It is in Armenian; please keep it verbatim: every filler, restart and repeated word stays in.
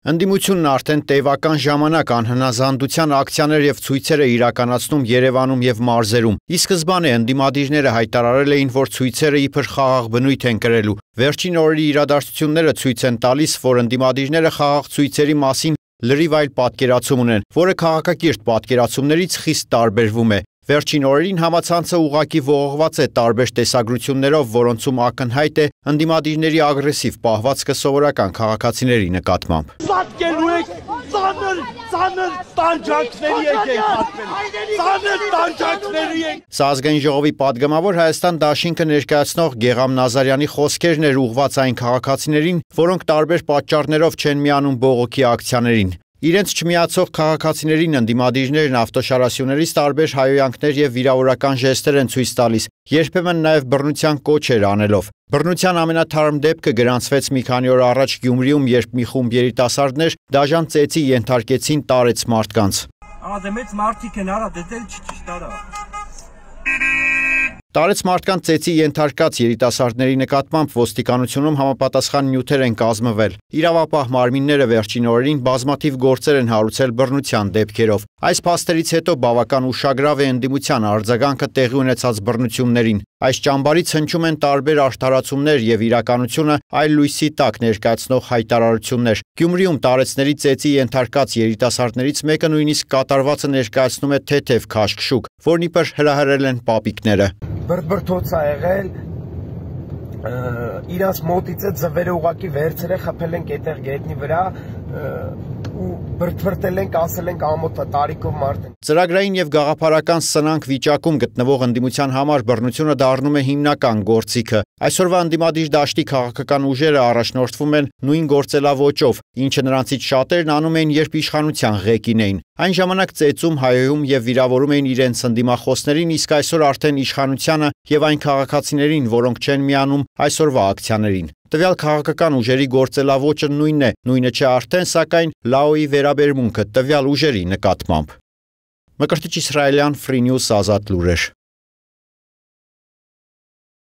Ընդդիմությունն արդեն տևական ժամանակ անհնազանդության ակցիաներ եւ ցույցեր է իրականացնում Երևանում եւ մարզերում։ Ի սկզբանե ընդդիմադիրները հայտարարել էին, որ ցույցերը իբր խաղաղ բնույթ են կրելու։ Վերջին օրերի իրադարձությունները ցույց են տալիս, որ ընդդիմադիրները խաղաղ ցույցերի մասին լրիվ այլ պատկերացում ունեն, որը քաղաքակիրթ պատկերացումներից խիստ տարբերվում է։ Վերջին օրերին համացանցը ուղղակի ողողված է տարբեր տեսագրություններով, որոնցում ակնհայտ է ընդդիմադիրների ագրեսիվ պահվածքը սովորական քաղաքացիների նկատմամբ։ Պատկերու եք ծանր, ծանր տանջանքների եք եք պատկել, ծանր տանջանքների եք։ Սա ազգային ժողովի պատգամավոր Հայաստան դաշինքը ներկայացնող Գեգամ Նազարյանի խոսքերն էր ուղղված այն քաղաքացիներին, որոնք տարբեր պատճառներով չեն միանում բողոքի ակցիաներին։ Իրենց չմիացող քաղաքացիներին ընդդիմադիրներն ավտոշարասյուներից տարբեր հայհոյանքներ եւ վիրավորական ժեստեր են ցույց տալիս, երբեմն նաեւ բռնության կոչեր անելով։ Բռնության ամենաթարմ դեպքը գրանցվեց մի քանի օր առաջ Գյումրիում, երբ մի խումբ երիտասարդներ դաժան ծեծի ենթարկեցին տարեց մարդկանց։ Ադե մեծ մարդիկ են արա, դե դել չի ճիշտ արա։ Տարեց մարդկանց ծեծի ենթարկած երիտասարդների նկատմամբ ոստիկանությունում համապատասխան նյութեր են կազմվել։ Իրավապահ մարմինները վերջին օրերին բազմաթիվ գործեր են հարուցել բռնության դեպքերով։ Այս փաստերից հետո բավական ուշագրավ է ընդդիմության արձագանքը տեղի ունեցած բռնություններին։ Այս ճամբարից հնչում են տարբեր արդարացումներ եւ իրականությունը այլ լույսի տակ ներկայացնող հայտարարություններ։ Գյումրիում տարեցների ծեծի ենթարկած երիտասարդներից մեկը նույնիսկ կատարվածը ներկայացնում է թեթև քաշքշուկ, որն իբր հրահրել են պապիկները։ Բրբրթոց ա եղել, իրանց մոտից է ձվերը ուղակի վերցրել, խփել ենք այդտեղ գետնի վրա ու բրբրտել ենք, ասել ենք ամոթ տարիքով մարդ են։ Ծրագրային եւ գաղափարական սնանկ վիճակում գտնվող ընդդիմության համար բռնությունը դառնում է հիմնական գործիքը։ Այսօրվա ընդդիմադիր դաշտի քաղաքական ուժերը առաջնորդվում են նույն գործելավոճով, ինչը նրանցից շատերն անում էին, երբ իշխանության ղեկին էին։ Այն ժամանակ ծեծում, հայոյում եւ վիրավորում էին իրենց ընդդիմախոսներին, իսկ այսօր արդեն իշխանությանը եւ այն քաղաքացիներին, որոնք չեն միանում այսօրվա ակցիաներին։ Տվյալ քաղաքական ուժերի գործելավոճը նույնն է, նույնը չէ արդեն, սակայն լաոյի վերաբերմունքը տվյալ ուժերի նկատմամբ։ Մկրտիչ Իսրայելյան, Free News, Ազատ լուրեր։